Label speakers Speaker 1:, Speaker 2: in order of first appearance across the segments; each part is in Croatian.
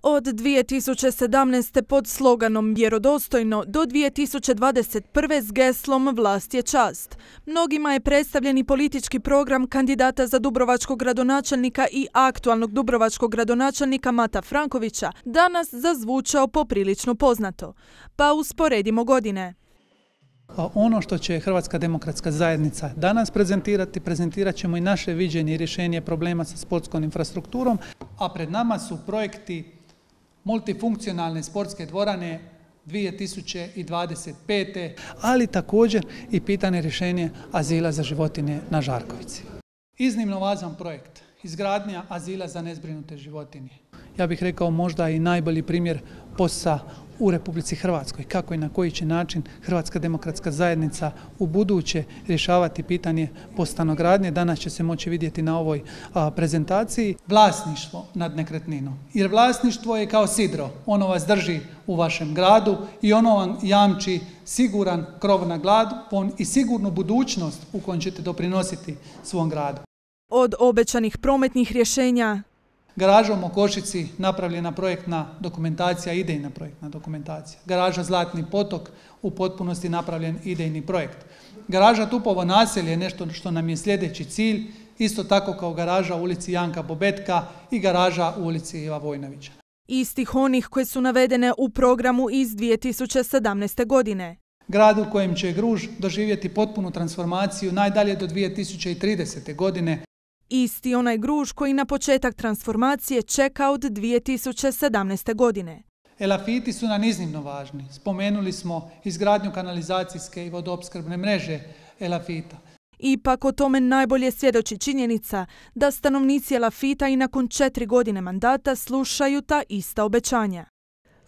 Speaker 1: Od 2017. pod sloganom Vjerodostojno do 2021. s geslom Vlast je čast. Mnogima je predstavljeni politički program kandidata za dubrovačkog gradonačelnika i aktualnog dubrovačkog gradonačelnika Mata Frankovića danas zazvučao poprilično poznato. Pa usporedimo godine.
Speaker 2: Ono što će Hrvatska demokratska zajednica danas prezentirat ćemo i naše viđenje i rješenje problema sa sportskom infrastrukturom, a pred nama su projekti multifunkcionalne sportske dvorane 2025. ali također i pitanje rješenje azila za životinje na Žarkovici. Iznimno važan projekt, izgradnja azila za nezbrinute životinje. Ja bih rekao možda i najbolji primjer POS-a u Republici Hrvatskoj, kako i na koji će način Hrvatska demokratska zajednica u buduće rješavati pitanje POS stanogradnje. Danas će se moći vidjeti na ovoj prezentaciji. Vlasništvo nad nekretninom. Jer vlasništvo je kao sidro, ono vas drži u vašem gradu i ono vam jamči siguran krov na glavu i sigurnu budućnost u kojoj ćete doprinositi svom gradu.
Speaker 1: Od obećanih prometnih rješenja,
Speaker 2: garaža u Mokošici napravljena projektna dokumentacija, idejna projektna dokumentacija. Garaža Zlatni potok u potpunosti napravljen idejni projekt. Garaža Tupovo naselje je nešto što nam je sljedeći cilj, isto tako kao garaža u ulici Janka Bobetka i garaža u ulici Iva Vojnovića.
Speaker 1: Istih onih koje su navedene u programu iz 2017. godine.
Speaker 2: Grad u kojem će Gruž doživjeti potpunu transformaciju najdalje do 2030. godine.
Speaker 1: Isti onaj Gruž koji na početak transformacije čeka od 2017. godine.
Speaker 2: Elafiti su nam iznimno važni. Spomenuli smo izgradnju kanalizacijske i vodoopskrbne mreže Elafita.
Speaker 1: Ipak o tome najbolje svjedoči činjenica da stanovnici Elafita i nakon 4 godine mandata slušaju ta ista obećanja.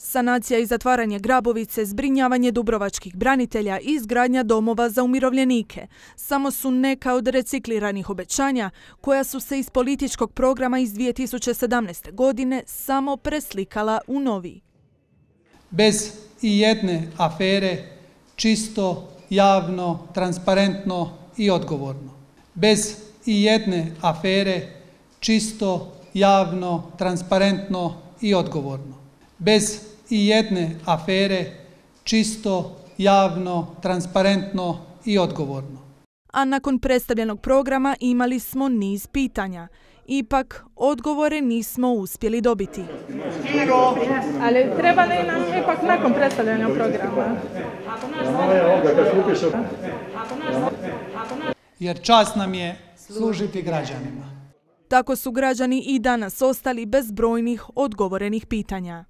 Speaker 1: Sanacija i zatvaranje Grabovice, zbrinjavanje dubrovačkih branitelja i izgradnja domova za umirovljenike samo su neka od recikliranih obećanja koja su se iz političkog programa iz 2017. godine samo preslikala u novi.
Speaker 2: Bez i jedne afere, čisto, javno, transparentno i odgovorno. Bez i jedne afere, čisto, javno, transparentno i odgovorno. Bez i jedne afere, čisto, javno, transparentno i odgovorno.
Speaker 1: A nakon predstavljenog programa imali smo niz pitanja. Ipak, odgovore nismo uspjeli dobiti.
Speaker 3: Ali treba li nam ipak nakon predstavljanja programa?
Speaker 2: Jer čast nam je služiti građanima.
Speaker 1: Tako su građani i danas ostali bez brojnih odgovorenih pitanja.